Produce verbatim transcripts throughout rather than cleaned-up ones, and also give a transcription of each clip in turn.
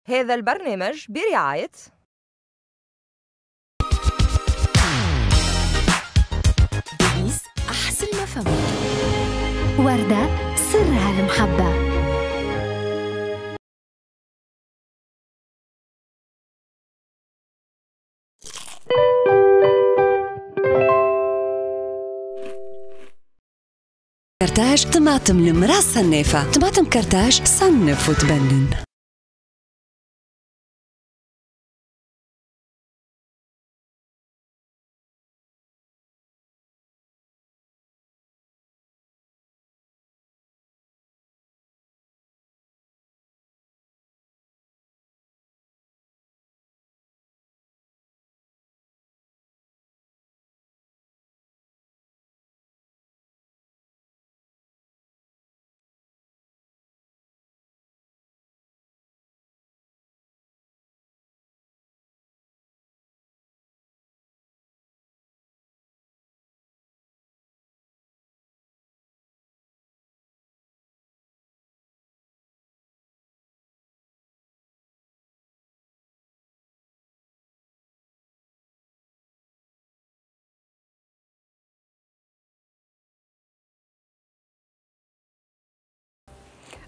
هذا البرنامج برعاية ديليس، أحسن ما فما. وردة سرها المحبة. كرتاج طماطم المرأة صنافة، طماطم كرتاج صنف وتبنن.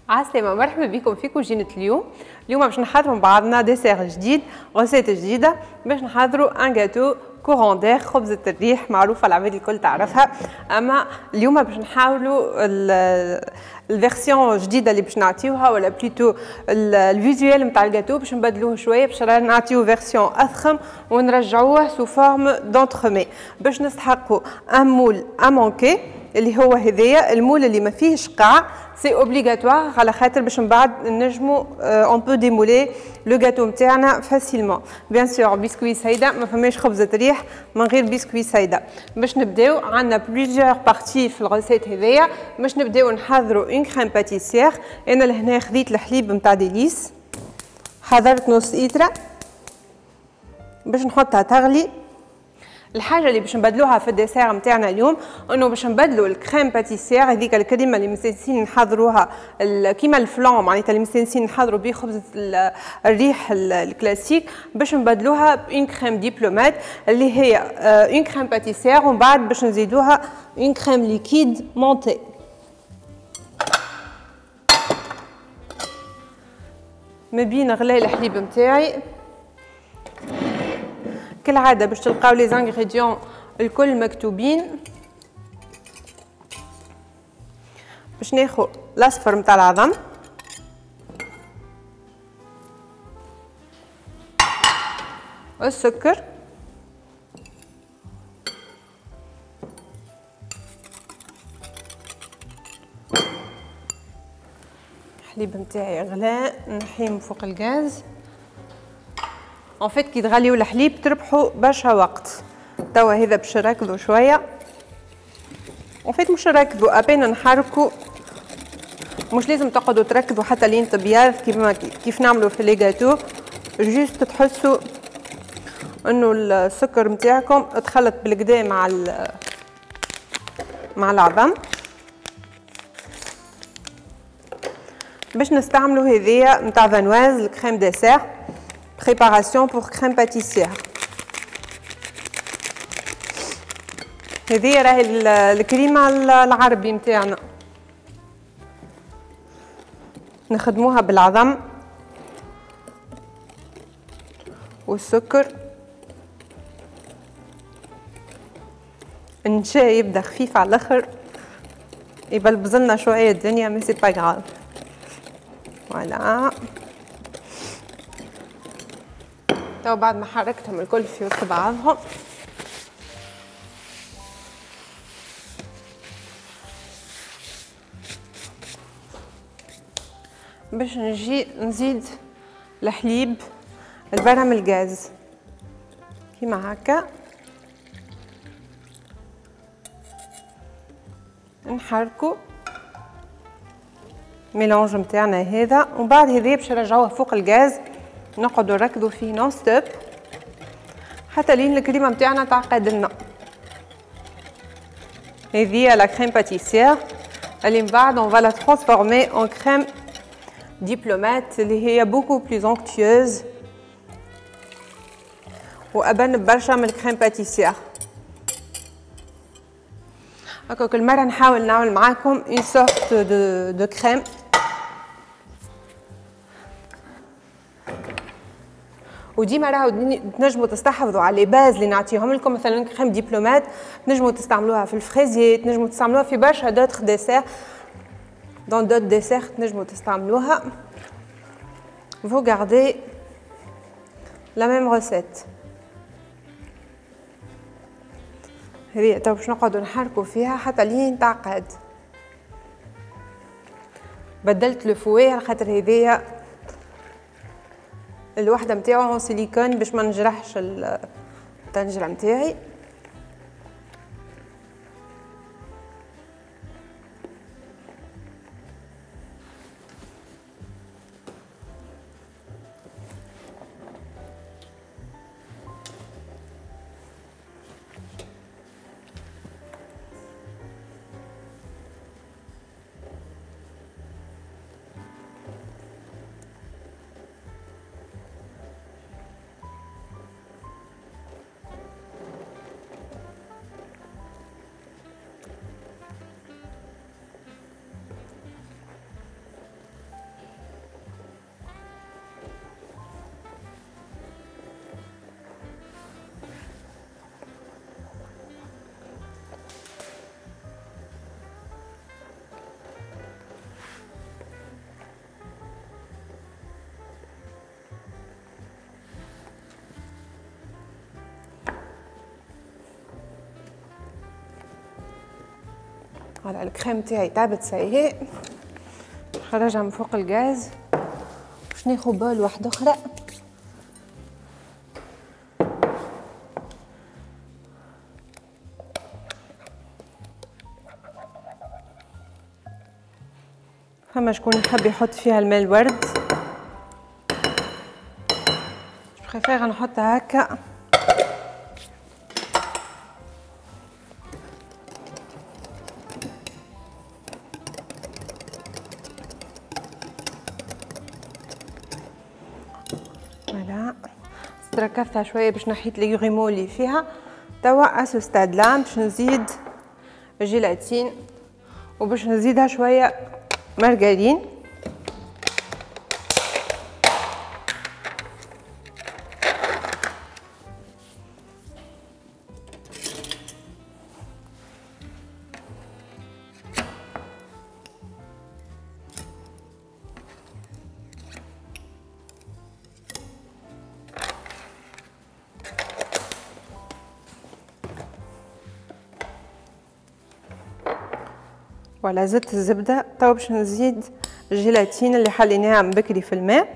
عسلامة، مرحبا بكم في كوجينة اليوم. اليوم باش نحضروا مع بعضنا dessert جديد، recette جديدة، باش نحضروا un gâteau courant d'air، خبزة الريح معروفة العباد الكل تعرفها. اما اليوم باش نحاولوا ال version الجديدة اللي باش نعطيوها، ولا plutôt ال visuel نتاع الجاتو باش نبدلوه شوية، باش نعطيو version اضخم ونرجعوه sous forme d'entremets. باش نستحقوا un moule à manquer اللي هو هذايا ال moule اللي ما فيهش قاع، c'est obligatoire على خاطر باش من بعد نجمو on peut démouler le gâteau نتاعنا facilement. bien sûr biscuit سيده، ما فماش خبزه ريح من غير بسكوي سيده. باش نبداو عندنا plusieurs parties في ال recette هذايا. باش نبداو نحضروا une crème pâtissière. انا لهنا خذيت الحليب نتاع ديليس، حضرت نص ايترا باش نحطها تغلي. الحاجة اللي باش نبدلوها في ال dessert نتاعنا اليوم انه باش نبدلوا ال crème pâtissière، هذيك الكريمة اللي مستانسين نحضروها كيما ال flan، معناتها اللي مستانسين نحضروا به خبزه الريح الكلاسيك، باش نبدلوها ب une crème diplomate اللي هي une crème pâtissière، ومن بعد باش نزيدوها une crème liquide montée. ما بين غلاء الحليب نتاعي كالعادة باش تلقاو les ingrédients الكل مكتوبين. باش ناخو الاصفر نتاع العظم، السكر، الحليب نتاعي غلاء نحيه من فوق الغاز. en fait كي تغليو الحليب تربحوا برشا وقت. توا هذا باش نركضوا شوية، en fait مش نركضوا à peine نحركوا، مش لازم تقعدوا تركضوا حتى لين تبيض كيما كيف نعملوا في les gâteaux. juste تحسوا انه السكر نتاعكم تخلط بالكدا مع مع العظم. باش نستعملوا هذيا نتاع فانواز ال crème dessert، préparation pour crème pâtissière. هذه راهي الكريمة العربي نتاعنا، نخدموها بالعظم والسكر. النشا يبدا خفيف على الاخر، يبلبزلنا شوية الدنيا، mais c'est pas grave. voilà تو بعد ما حركتهم الكل في وسط بعضهم، باش نجي نزيد الحليب البرا من الغاز كيما هكا، نحركو mélange نتاعنا هذا. ومن بعد هذا باش نرجعوه فوق الغاز، نقعدوا نركضوا فيه non-stop حتى لين الكريمة نتاعنا تعقد لنا. هذه la crème pâtissière اللي من بعد on va la transformer en crème Diplomate اللي هي beaucoup plus onctueuse وابن برشا من ال crème pâtissière. هكا كل مرة نحاول نعمل معاكم une sorte de de crème. وديما راهو تنجموا تستحفظوا على les bases اللي نعطيهم لكم، مثلا crème Diplomate تنجموا تستعملوها في ال fraisier، تنجموا تستعملوها في برشا d'autres desserts، dans d'autres desserts تنجموا تستعملوها. Vous gardez la même recette. هذه تو باش نقعدوا نحركوا فيها حتى لين تعقد. بدلت le fouet على خاطر هذيا الوحدة نتاعو سيليكون باش ما نجرحش الطنجره نتاعي. voilà ال crème تاعي طابت ça y est، نخرجها من فوق الغاز باش ناخذ bol واحدة اخرى. فما شكون يحب يحط فيها الماء الورد، préfère نحطها هكا. ركزتها شوية باش نحيت les grumeaux اللي فيها. توا à ce stade-là باش نزيد جيلاتين وباش نزيدها شوية مارغرين. voilà زدت الزبدة. توا باش نزيد الجيلاتين اللي حليناها من بكري في الماء،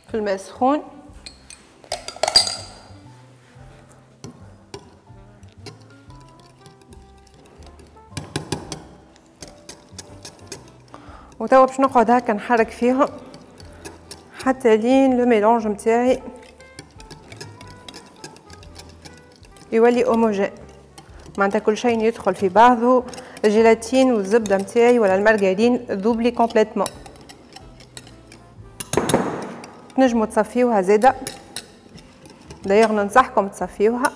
في الماء سخون. وتوا باش نقعد هكا نحرك فيهم حتى لين le mélange نتاعي يولي homogène، معناتها كل شيء يدخل في بعضه، الجيلاتين والزبده نتاعي ولا المارغرين ذوبلي complètement. تنجموا تصفيوها زاده، d'ailleurs ننصحكم تصفيوها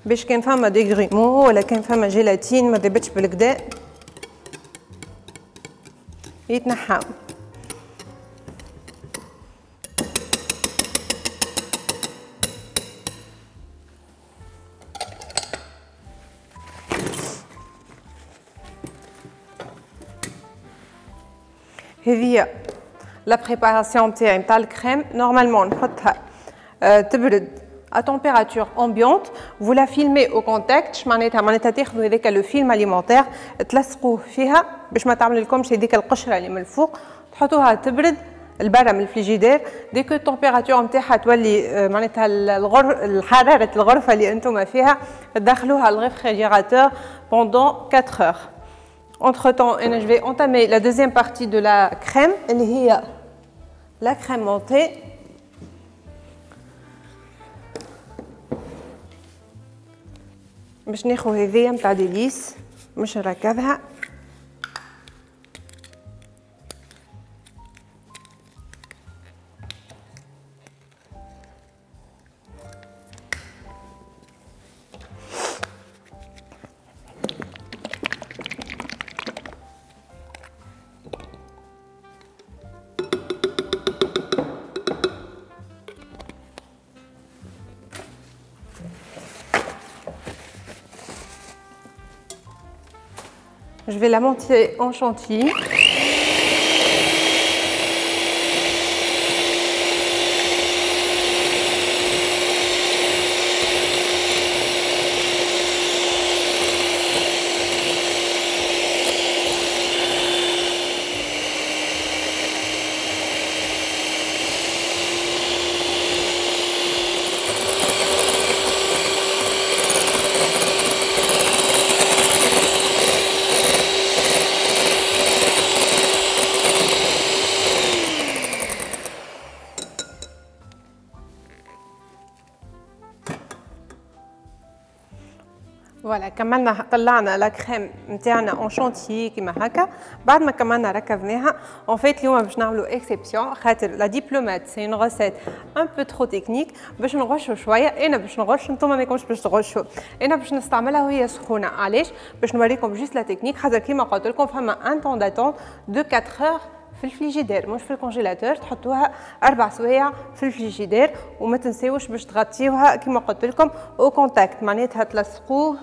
باش كان فما des grumeaux ولا كان فما جيلاتين ما ذبتش بالكدا يتنحاو. هذه la préparation تاعي نتاع ال crème. Normalement نحطها تبرد à température ambiante, vous la filmez au contact. معناتها معناتها تاخذوا هذاك le film alimentaire تلصقوه فيها باش ما تعمل لكمش هذيك القشرة اللي من الفوق، تحطوها تبرد البرا من ال frigidaire. Dès que ال température نتاعها تولي معناتها الغر حرارة الغرفة اللي انتم فيها، تدخلوها لل réfrigérateur pendant quatre heures. Entre temps, je vais entamer la deuxième partie de la crème, اللي هي la crème montée. باش ناخذ هذيا نتاع Délice باش نركزها. Je vais la monter en chantilly. Voilà كملنا طلعنا la crème نتاعنا en chantilly كيما هكا. بعد ما كملنا ركبناها en fait اليوم باش نعملو exception خاطر la diplomate c'est une recette un peu trop technique باش نغشو شوية. انا باش نغش نتوما ما يكونش باش تغشوا، انا باش نستعملها وهي سخونة. علاش؟ باش نوريكم juste la technique خاطر كيما قلت لكم فما un temps d'attente de quatre heures في الفريجيدير مش في ال congélateur، تحطوها اربع سوايع في الفريجيدير وما تنساوش باش تغطيوها كيما قلت لكم au contact، معناتها تلصقوه.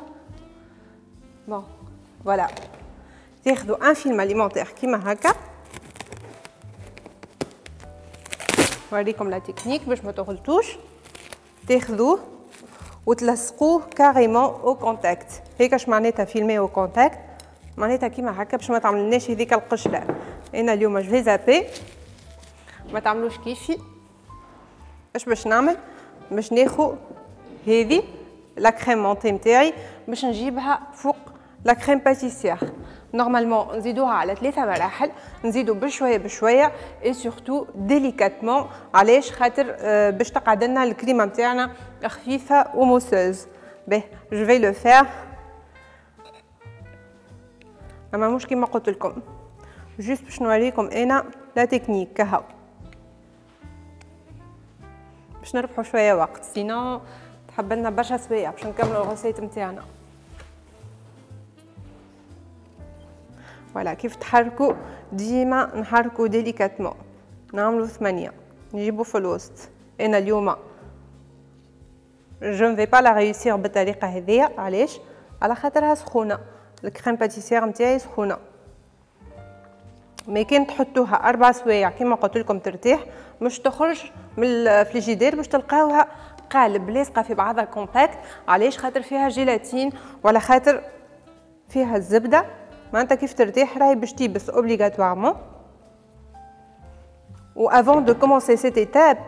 Bon voilà تاخذوا un film alimentaire كيما هكا. نوريكم la technique باش ما تغلطوش. تاخذوه وتلصقوه carrément au contact. هيك اش معناتها filmé au contact؟ معناتها كيما هكا باش ما تعملناش هذيك القشرة. انا اليوم je vais zapper، ما تعملوش كيفي. اش باش نعمل؟ باش ناخذ هذه la crème montée نتاعي باش نجيبها فوق la crème pâtissière. Normalement نزيدوها على ثلاثة مراحل، نزيدو بشوية بشوية et surtout délicatement. علاش؟ خاطر باش تقعد لنا الكريمة نتاعنا خفيفة و mousseuse. باهي je vais le faire، اما مش كيما قلت لكم، juste باش نوريكم انا la technique كهو باش نربحو شوية وقت، sinon تحب لنا برشا سوايع باش نكملوا ال recette نتاعنا. Voilà كيف تحركوا ديما نحركوا délicatement، نعملوا ثمانية نجيبوا في الوسط. انا اليوم je ne vais pas la réussir بالطريقة هذيا، علاش؟ على خاطرها سخونة، ال crème pâtissière نتاعي سخونة. Mais كان تحطوها اربع سوايع كيما قلت لكم ترتاح، مش تخرج من الفريجيدير باش تلقاوها قالب لاصقه في بعضها compacte. علاش؟ خاطر فيها جيلاتين ولا خاطر فيها الزبدة، معناتها كيف ترتاح راهي باش تيبس obligatoirement. و avant de commencer cette étape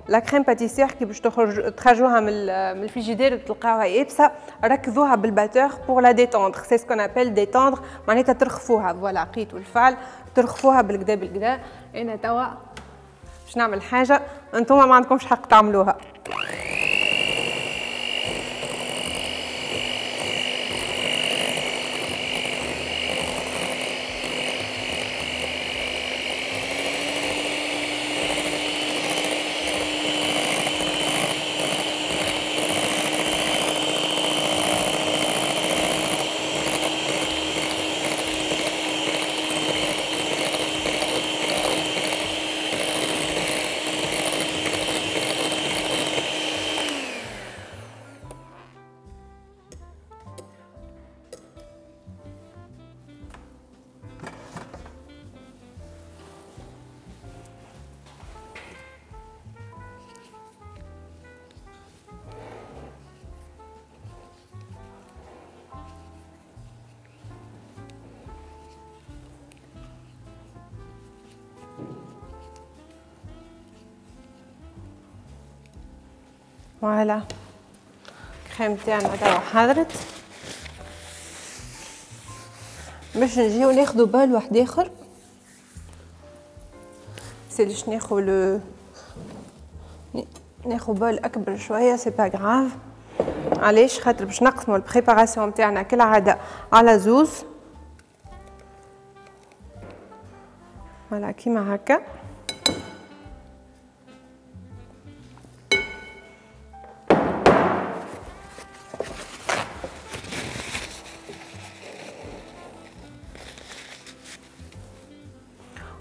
la crème pâtissière كي باش تخرج تخرجوها من من الفريجيدير تلقاوها يابسة، ركزوها بال batteur pour la détendre، c'est ce qu'on appelle détendre، معناتها ترخفوها. Voilà قيتوا الفعل، ترخفوها بالكدا بالكدا. انا توا باش نعمل حاجة انتم ما عندكمش حق تعملوها. Voilà crème تاعنا توا حضرت. باش نجيو ناخدو bol واحد اخر، سيلش ناخو le ناخو bol اكبر شوية، c'est pas grave. علاش؟ خاطر باش نقسمو ال préparation تاعنا كالعادة على زوز. Voilà كيما هكا.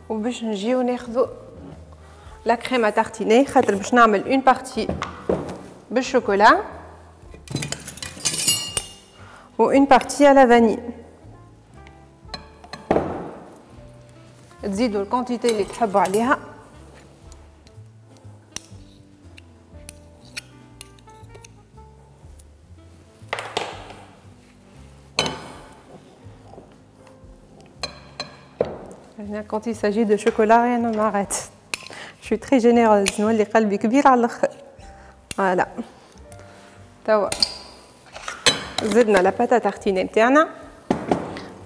وباش نجيو ناخذو la crème à tartiner، خاطر باش نعمل une partie بال chocolat و une partie à la vanille. تزيدوا ال quantité اللي تحبوا عليها. Quand il s'agit de chocolat, rien ne m'arrête. Je suis très généreuse. نولي قلبي كبير على الاخر. Voilà. توا زدنا la pâte à tartiner نتاعنا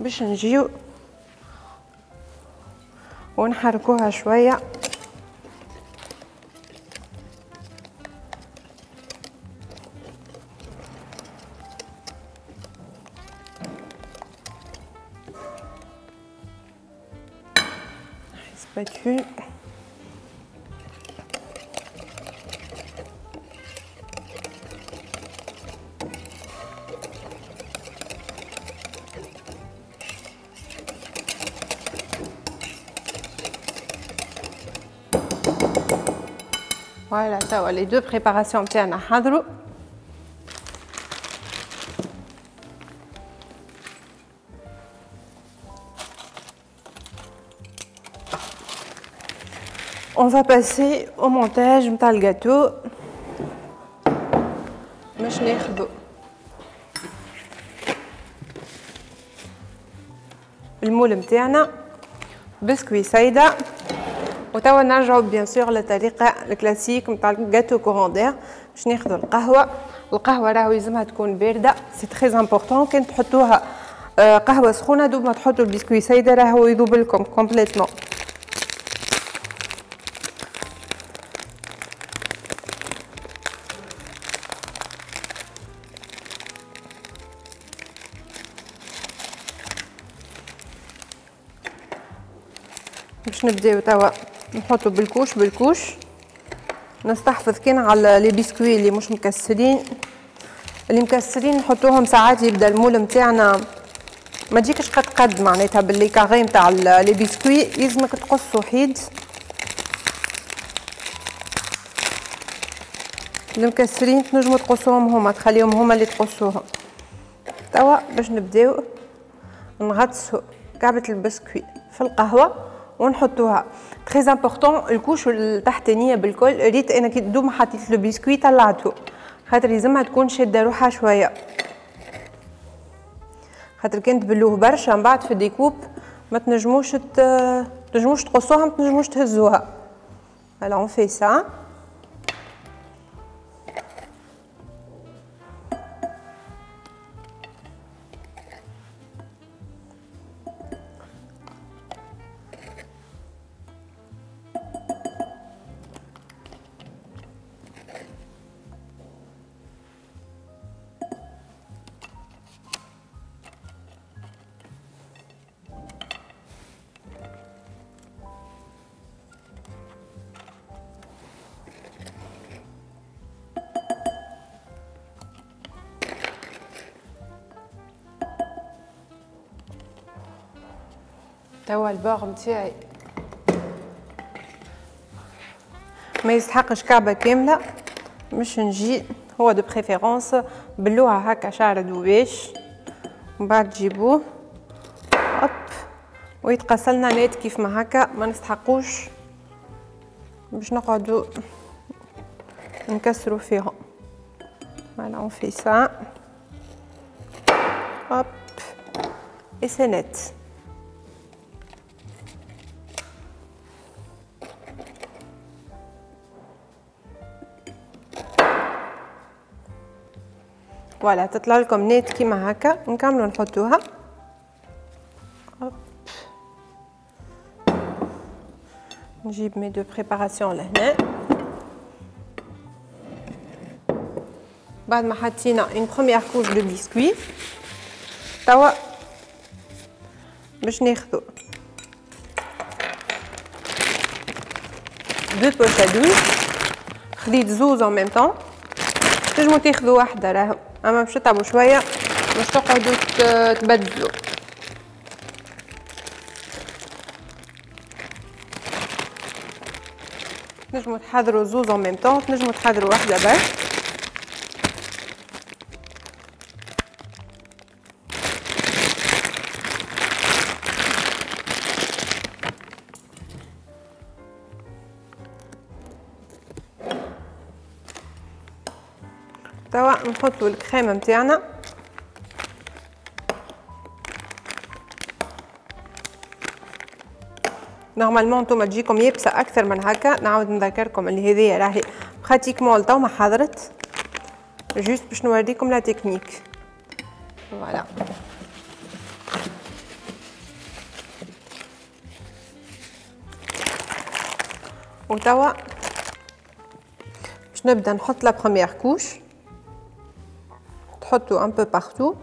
باش نجيو ونحركوها شوية. Spatule. Voilà, توا les deux préparations نتاعنا حضروا. On va passer au montage نتاع الجاتو. باش ناخدو ال moule نتاعنا بسكوي سايده، وتوا نرجعو bien sûr للطريقة الكلاسيك نتاع ال gâteau courant d'air. باش ناخدو القهوة، القهوة راهو يلزمها تكون باردة، c'est très important. كان تحطوها قهوة سخونة دوب ما تحطوا البسكوي سايده راهو يذوب لكم complètement. باش نبداو توا نحطو بال couche بال couche، نستحفظ كان على les biscuits اللي مش مكسرين. اللي مكسرين نحطوهم ساعات يبدا ال moule نتاعنا ما تجيكش قد قد معناتها بال les carrés نتاع les biscuits، يلزمك تقص وحيد. اللي مكسرين تنجمو تقصوهم هما، تخليهم هما اللي تقصوهم. توا باش نبداو نغطسو كعبة البسكوي في القهوة ونحطوها. très important ال couche التحتانيه بالكل. ريت انا كي دوب ما حطيت le biscuit طلعته، خاطر لازمها تكون شاده روحها شوية، خاطر كان تبلوه برشا من بعد في découpe ما تنجموش تنجموش تقصوها، ما تنجموش تهزوها. Alors on fait ça. توا ال bord نتاعي ما يستحقش كعبه كاملة، مش نجي هو de préférence بلوها هكا شعر دوباش، ومن بعد تجيبوه hop ويتقصلنا net كيف ما هكا، ما نستحقوش باش نقعدو نكسرو فيهم. Voilà, on fait ça. Hop, et c'est net. Voilà, تطلع لكم نيت كيما هكا. نكملو نحطوها. نجيب mes deux préparations لهنا. بعد ما حطينا une première couche de biscuit، توا باش ناخذو deux poches à douille. خديت زوز en même temps، تنجمو تاخذو واحدة راهو، اما باش تتعبوا شوية باش تقعدوا تبدلوا. تنجموا تحضروا زوز en même temps، تنجموا تحضروا واحدة برك. توا نحطوا الكريم نتاعنا. normalement نتوما تجيكم يابسة اكثر من هكا، نعاود نذكركم اللي هذيا راهي pratiquement لتو ما حضرت، juste باش نوريكم la technique. voilà وتوا باش نبدا نحط la première couche، تحطوا un peu partout.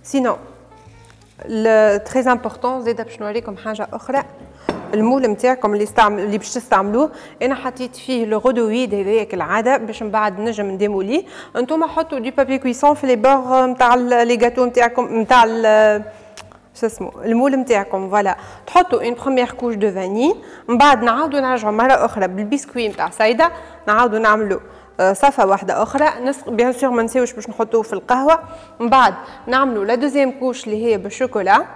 sinon très important زيد باش نوريكم حاجة اخرى، ال moule نتاعكم اللي استعمل اللي باش تستعملوه، انا حطيت فيه le rhodoïd هذايا كالعادة باش من بعد نجم نديموليه. انتم حطوا du papier cuisson في les bords نتاع les gâteaux نتاعكم نتاع شو اسمه ال moule نتاعكم. voilà تحطوا une première couche de vanille، من بعد نعاودوا نرجعوا مرة اخرى بالبسكوي نتاع سيده، نعاودوا نعملوا صفة واحدة أخرى، bien sûr ما نساوش باش نحطوه في القهوة. من بعد نعملوا la deuxième couche اللي هي بالشوكولا.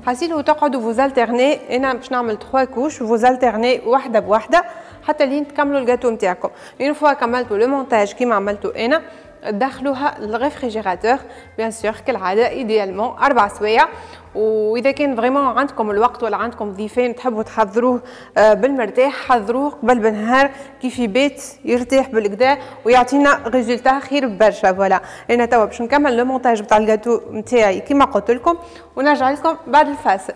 حاسيلو تقعدوا vous alternez، أنا باش نعمل trois couches، vous alternez واحدة بواحدة حتى لين تكملوا الجاتو نتاعكم. une fois كملتوا le montage كيما عملتو أنا، دخلوها لل réfrigérateur bien sûr كالعادة idéalement أربع سوايع. واذا كان vraiment عندكم الوقت ولا عندكم ضيفين تحبوا تحضروه بالمرتاح، حضروه قبل بنهار كيف يبات يرتاح بالكدا ويعطينا résultat خير برشا. voilà انا توا باش نكمل le montage بتاع الجاتو نتاعي كيما قلت لكم، ونرجع لكم بعد الفاصل.